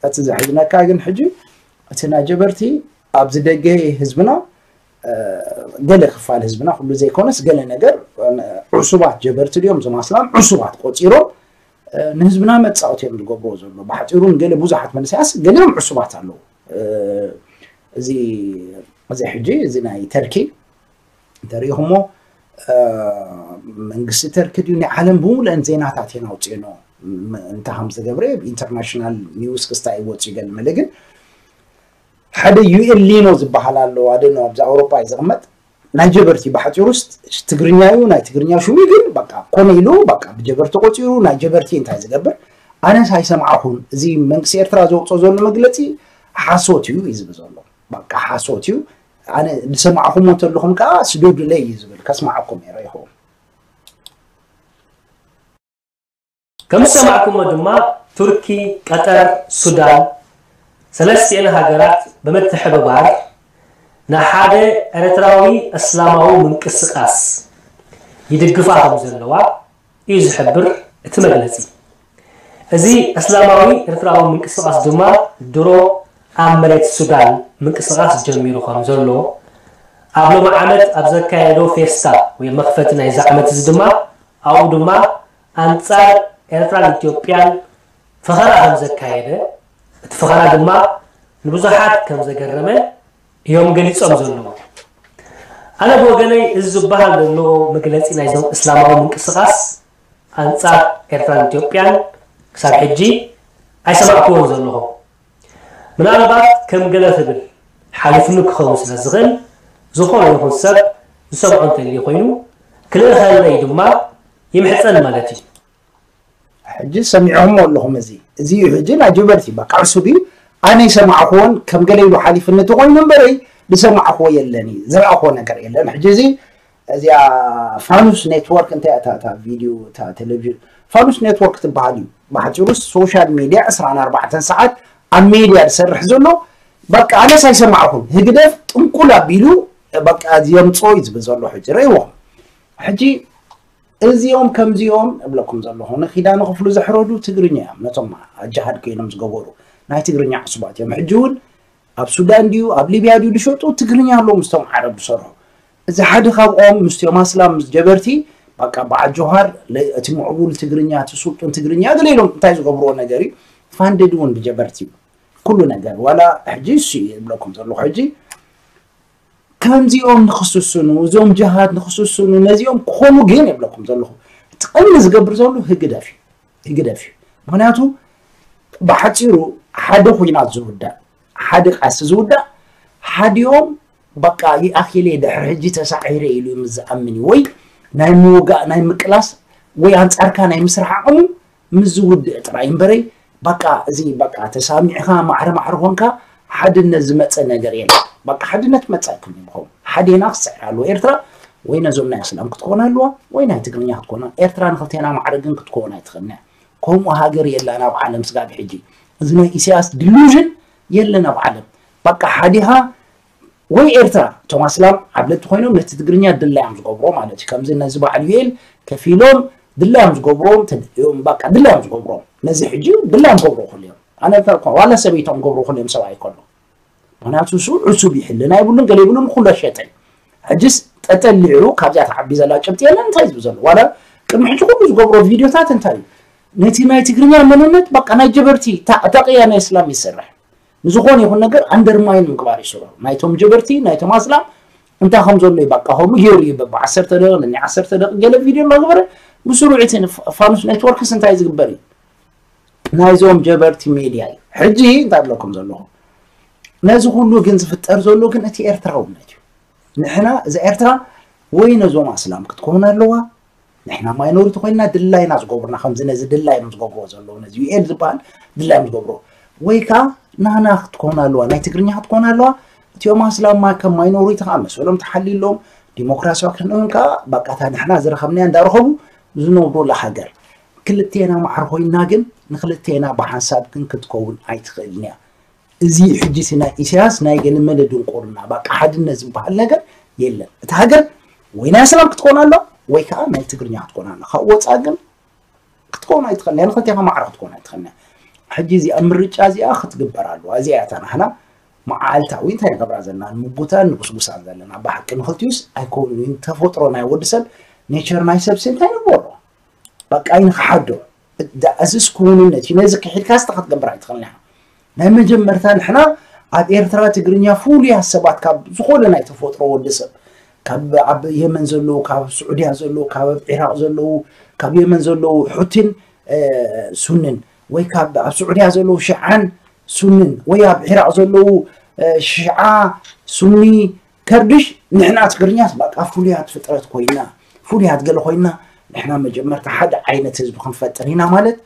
እቲ ዘሕዝነካ ግን ሕጂ እቲ ናይ ጀበርቲ ኣብዚ ደገ ህዝብና ገለ ክፋል ህዝብና ኩሉ ዘይኮነስ ገለ ነገር ዕሱባት ጀበርቲ ድዮም ዝማስላም ዕሱባት ቆፂሮም ንህዝብና መፃወቲ እዮም ዝገብርዎ ዘሎ። ብሓፂሩ ገለ ብዙሓት መንስያስ ገሊኦም ዕሱባት ኣለዉ። እዚ እዚ ሕጂ እዚ ናይ ተርኪ እንተሪኢኹሞ መንግስቲ ተርኪ ድዩ ናይ ዓለም ብምሉአን ዜናታት እየን ኣውፅኤኖ እንታ ከም ዝገብረ ኢንተርናሽናል ኒውስ ክስታይ ይወፅኡ ገለ መለ ግን ሓደ ዩኤል ሊኖ ዝበሃል ኣሎ ኣደኖ ኣብዚ ኣውሮፓ እዩ ዝቕመጥ ናይ ጀበርቲ ብሓፂሩስ ትግርኛ እዩ ናይ ትግርኛ ሽሙ ግን በቃ ኮነ ኢሉ በቃ ብጀበርቲ ቆፂሩ ናይ ጀበርቲ እንታይ ዝገብር ኣነስ ኣይሰማዕኹን እዚ መንግስቲ ኤርትራ ዘውፅኦ ዘሎ መግለፂ ሓሶት እዩ እዩ ዝብል ዘሎ በቃ ሓሶት እዩ ኣነ ዝሰማዕኹም እንተለኹም ከዓ ስደዱለይ እዩ ዝብል ከስማዓኩም እየ ረኢኹም ከም ዝሰማዕኩሞ ድማ ቱርኪ፣ ቀጠር፣ ሱዳን ሰለስቲኤን ሃገራት ብምትሕብባር ንሓደ ኤርትራዊ እስላማዊ ምንቅስቃስ ይድግፋ ከም ዘለዋ እዩ ዝሕብር እቲ መግለፂ። እዚ እስላማዊ ኤርትራዊ ምንቅስቃስ ድማ ድሮ ኣብ መሬት ሱዳን ምንቅስቃስ ጀሚሩ ከም ዘሎ ኣብ ሎሚ ዓመት ኣብ ዘካየዶ ፌስታ ወይ መኽፈቲ ናይዚ ዓመት እዚ ድማ ኣብኡ ድማ ኣንጻር ኤርትራን ኢትዮጵያን ፈኸራ ከም ዘካየደ እቲ ፈኸራ ድማ ንብዙሓት ከም ዘገረመ እዮም ገሊጾም ዘለዉ። ኣነ ብወገነይ እዚ ዝበሃል ዘሎ መግለጺ ናይዞም እስላማዊ ምንቅስቓስ ኣንጻር ኤርትራን ኢትዮጵያን ክሳብ ሕጂ ኣይሰማዕክዎን ዘለኹ። ምናልባት ከም ገለ ክብል ሓሊፍኒ ክኸውን ስለ ዝኽእል ዝኾነ ይኹን ሰብ ዝሰምዖ እንተልዩ ኮይኑ ክልእኸለይ ድማ ይምሕጸን ማለት እዩ። ሕጂ ሰሚዖሞ ኣለኹም እዚ እዚ እዩ ሕጂ ናይ ጀበርቲ በቃ ዕሱብ እዩ ኣነ ይሰማዕክዎን ከም ገለ ኢሉ ሓሊፍኒ ተኾይኑ እምበረይ ዝሰማዕክዎ የለን እዩ ዝረኣኽዎ ነገር የለን ሕጂ እዚ እዚኣ ፋኑስ ኔትወርክ እንታይ እያ እታ ቪድዮ እታ ቴሌቪዥን ፋኑስ ኔትወርክ ትበሃል እዩ ብሓፂሩ ሶሻል ሚድያ ዕስራን ኣርባዕተን ሰዓት ኣብ ሚድያ ዝሰርሕ ዘሎ በቃ ኣነስ ኣይሰማዕኹን ህግደፍ ጥንቁል ኣቢሉ በቃ የምፅኦ እዩ ዝብል ዘሎ ሕጂ ረእይዎም ሕጂ እዚኦም ከምዚኦም እብለኩም ዘለኹ ንኪዳነ ክፍሉ ዘሕረዱ ትግርኛ እዮም ነቶም ኣጃሃድ ኮይኖም ዝገበሩ ናይ ትግርኛ ዕሱባት እዮም ሕጂ እውን ኣብ ሱዳን ድዩ ኣብ ሊብያ ድዩ ዝሸጡ ትግርኛ ኣለዉ ምስቶም ዓረብ ዝሰርሑ እዚ ሓደ ካብኦም ምስቶም ኣስላም ምስ ጀበርቲ በቃ በዓል ጆሃር እቲ ምዕቡል ትግርኛ እቲ ስልጡን ትግርኛ ገለ ኢሎም እንታይ ዝገብርዎ ነገር እዩ ፋንድድ እውን ብጀበርቲ እዩ ኩሉ ነገር ዋላ ሕጂ እሱ እዩ ዝብለኩም ዘለኹ ሕጂ ከምዚኦም ንክስስኑ እዞም ጅሃድ ንክስስኑ ነዚኦም ክኾኑ ግን የብለኩም ዘለኹ እቲ ቀንዲ ዝገብር ዘሎ ህግደፍ እዩ ህግደፍ እዩ ምክንያቱ ብሓፂሩ ሓደ ኩናት ዝውዳእ ሓደ ቃሲ ዝውዳእ ሓዲኦም በቃ ይኣኪለ ድሕሪ ሕጂ ተሳዒረ ኢሉ ምስ ዝኣምን እዩ ወይ ናይ ምውጋእ ናይ ምቅላስ ወይ ኣንፃርካ ናይ ምስራሕ ዓቕሙ ምስ ዝውድእ ጥራይ እምበረይ በቃ እዚ በቃ ተሳሚዕካ ማዕረ ማዕረ ኮንካ ሓድነት ዝመፀ ነገር የለ በቃ ሓድነት መፀ ክብሉ ምኾም ሓዴና ክስዕር ኣለዎ ኤርትራ ወይ ነዞም ናይ እስላም ክትኮን ኣለዋ ወይ ናይ ትግርኛ ክትኮና ኤርትራ ንክልቴና ማዕረ ግን ክትኮን ኣይትኽእልን እያ ከምኡ ሃገር የላን ኣብ ዓለም ስጋብ ሕጂ እዚ ናይ ኢሳያስ ዲሉዥን የለን ኣብ ዓለም በቃ ሓዲኻ ወይ ኤርትራ እቶም ኣስላም ዓብለቲ ኮይኖም ነቲ ትግርኛ ድላዮም ዝገብሮ ማለት እዩ ከምዚ ነዚ በዓል ዩኤል ከፊሎም ድላዮም ዝገብሮም ተደልዮም በቃ ድላዮም ዝገብሮም ነዚ ሕጂ ድላዮም ገብሮ ኩልዮም ኣነ ዋላ ሰበይቶም ገብሮ ኩልዮም ሰብኣይ ከሎ ምክንያቱ እሱ ዕሱብ ይሕልና ይብሉን ገለ ይብሉን ኩሎ ሸጠ ሕጅስ ጠጠሊዑ ካብዚኣ ተዓቢ ዘላ ጭብጢ የለን እንታይ ዝብ ዘሎ ዋላ ቅድሚ ሕጂ ኩሉ ዝገብሮ ቪድዮታት እንታይ እዩ ነቲ ናይ ትግርኛ መንነት በቃ ናይ ጀበርቲ ታቅያ ናይ እስላም ይሰርሕ ንዝኾነ ይኹን ነገር ኣንደርማይን ምግባር ይስርሑ ናይቶም ጀበርቲ ናይቶም ኣስላም እንታይ ከም ዘሎ ይባቃ ከምኡ ገይሩ እዩ በባ ዓሰርተ ደቂቕ ንኒ ዓሰርተ ደቂቕ ገለ ቪድዮ እናገበረ ብስሩዕ እቲ ፋኑስ ኔትወርክስ እንታይ ዝግበር እዩ ናይዞም ጀበርቲ ሜድያ እዩ ሕጂ እንታይ ብለኩም ዘለኹ ነዚ ኩሉ ግን ዝፍጠር ዘሎ ግን እቲ ኤርትራውነት እዩ ንሕና እዛ ኤርትራ ወይ ነዞም ኣስላም ክትከውን ኣለዋ ንሕና ማይኖሪቲ ኮይና ድላይና ዝገብሩና ከምዚ ነዚ ድላይና ዝገብርዎ ዘለዉ ነዚ ዩኤል ዝበሃል ድላይና ዝገብርዎ ወይ ከዓ ናና ክትኮን ኣለዋ ናይ ትግርኛ ክትኮን ኣለዋ እቲኦም ኣስላማ ከም ማይኖሪቲ ከዓ መሰሎም ተሓሊሎም ዲሞክራሲያዊ ክንውን ከዓ በቃታ ንሕና ዝረኸብናያ እንዳረኸቡ ዝነብሩላ ሃገር ክልቴና ማዕረ ኮይና ግን ንክልቴና ብሓንሳብ ግን ክትከውን ኣይትኽእልን እያ እዚ ሕጂ እቲ ናይ ኢሳያስ ናይ ገለመለ ድንቁርና በቃ ሓድነት ዝበሃል ነገር የለን። እቲ ሃገር ወይ ናይ ኣስላም ክትኮን ኣሎ ወይ ከዓ ናይ ትግርኛ ክትኮን ኣሎ። ካብ ወፃኢ ግን ክትኮን ኣይትኽእልን እያ። ንክልቴኻ ማዕረ ክትኮን ኣይትኽእልን እያ። ሕጂ እዚኣ ምርጫ እዚኣ ክትግበር ኣለዋ። እዚኣ እታ ናህና መዓልታዊ እንታይ ንገብራ ዘለና ንምጉታን ንጉስጉሳን ዘለና። ብሓቂ ንክልቲኡስ ኣይከውንን እዩ። ተፈጥሮ ናይ ወዲ ሰብ፣ ኔቸር ናይ ሰብ ሲ እንታይ ንግበሮ? በቃ ንክሓዶ። እዚስ ክውንነት እዩ። ነዚ ክሒድካ ስተ ክትገብር ኣይትኽእል። ንሕና ናይ መጀመርታ ንሕና ኣብ ኤርትራ ትግርኛ ፍሉያት ሰባት ካብ ዝኾነ ናይ ተፈጥሮ ወዲ ሰብ፣ ካብ ኣብ የመን ዘለዉ፣ ካብ ስዑድያ ዘለዉ፣ ካብ ኣብ ዒራቕ ዘለዉ፣ ካብ የመን ዘለዉ ሑቲን ሱንን፣ ወይ ካብ ኣብ ስዑድያ ዘለዉ ሽዓን ሱንን፣ ወይ ኣብ ዒራቕ ዘለዉ ሽዓ ሱኒ ከርድሽ፣ ንሕና ትግርኛስ በቃ ፍሉያት ፍጥረት ኮይና፣ ፍሉያት ገለ ኮይና፣ ንሕና መጀመርታ ሓደ ዓይነት ህዝቢ ክንፈጥር ኢና ማለት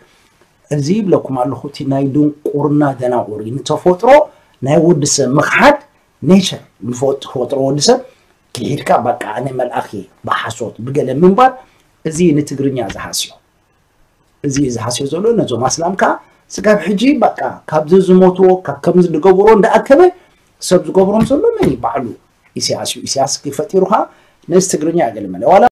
እዚ ይብለኩም ኣለኹ። እቲ ናይ ድንቁርና ደናቑር እዩ። ንተፈጥሮ ናይ ወዲ ሰብ ምኽሓድ፣ ኔቸር ንፈጥ-፣ ተፈጥሮ ወዲ ሰብ ክሒድካ በቃ ኣነ መልኣኽ እየ ብሓሶት ብገለ ምንባር፣ እዚ ንትግርኛ ዝሃስዮ። እዚ ዝሃስዮ ዘሎ ነዞም ኣስላም ከዓ ስጋብ ሕጂ በቃ ካብዚ ዝሞትዎ ካብ ከምዚ ዝገብሮ እንዳኣከበ ሰብ ዝገብሮም ዘሎ መን እዩ? ባዕሉ ኢሳያስ እዩ። ኢሳያስ ፈጢሩ ከዓ ነዚ ትግርኛ ገለ መለ ዋላ